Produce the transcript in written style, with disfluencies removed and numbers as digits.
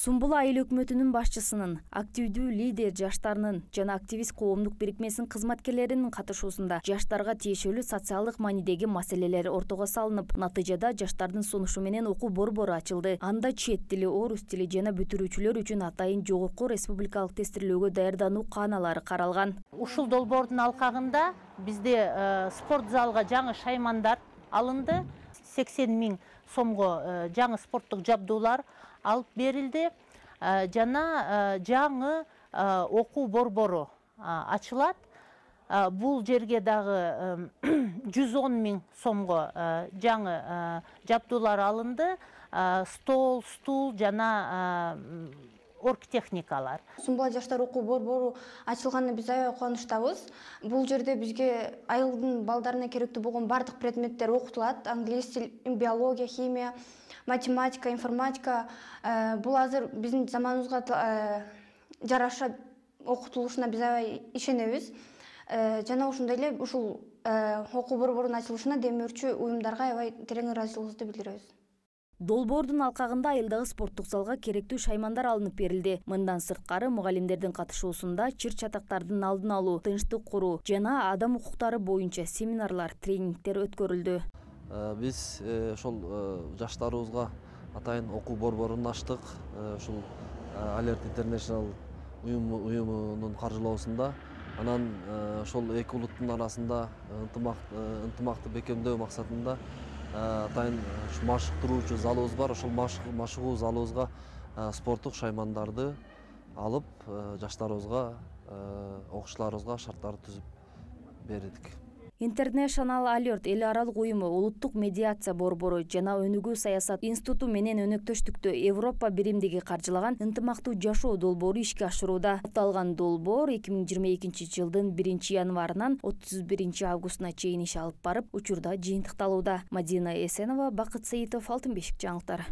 Сумбул айыл өкмөтүнүн башчысынын, активдүү лидер жаштарынын жана активист коомдук бирикмесинин кызматкерлеринин катышуусунда жаштарга тиешелүү социалдык маанидеги маселелер ортого салынып, натыйжада жаштардын сунушу менен окуу борбору ачылды. Анда чет тили, орус тили жана бүтүрүүчүлөр үчүн атайын жогорку республикалык тестирлөөгө даярдануу кааналары каралган. Ушул долбоордун алкагында бизде спорт залга жаңы шаймандар алынды. 80 000 сомго жаңы спорттук жабдуулар алып берилди. Жана жаңы окуу борбору ачылат. Бул жерге дагы 110 000 сомго жаңы жабдуулар алынды. Стол, стул жана оргтехникалар. Сумбул жаштар окуу борбору ачылганына биз аябай кубанычтабыз. Бул жерде бизге айылдын балдарына керектүү болгон бардык предметтер окутулат. Англис тил, биология, химия, математика, информатика. Бул азыр биздин заманыбызга жараша окутулушуна биз аябай ишенебиз. Жана ошондой эле ушул окуу борборунун ачылышына демөөрчү уюмдарга аябай терең ыраазычылыгыбызды билдиребиз. Долбоордун алкагында айылдагы спорттук залга керектүү шаймандар алынып берилди. Мындан сырткары мугалимдердин катышуусунда чыр-чатактардын алдын алуу, тынчтык куруу жана адам укуктары боюнча семинарлар, тренингдер өткөрүлдү. Биз ошол жаштарыбызга атайын окуу борборун ачтык. Ушул Alert International уюмунун каржылоосунда. Анан ошол эки улуттун арасында ынтымакты бекемдөө максатында атайын машыктыруучу залыбыз бар. Ошол машыгуу залыбызга спорттук шаймандарды алып, жаштарыбызга, окуучуларыбызга шарттарды түзүп бердик. International Alert эл аралык уюму, улуттук медиация борбору жана өнүгүү саясат институту менен өнөктөштүктө Европа биримдиги каржылаган ынтымактуу жашоо долбоору ишке ашырууда. Аталган долбоор 2022 жылдын 1 январынан 31 августуна чейин иш алып барып, учурда жыйынтыкталууда. Мадина Эсенова, Бакыт Саитов, Алтын бешик жаңылыктары.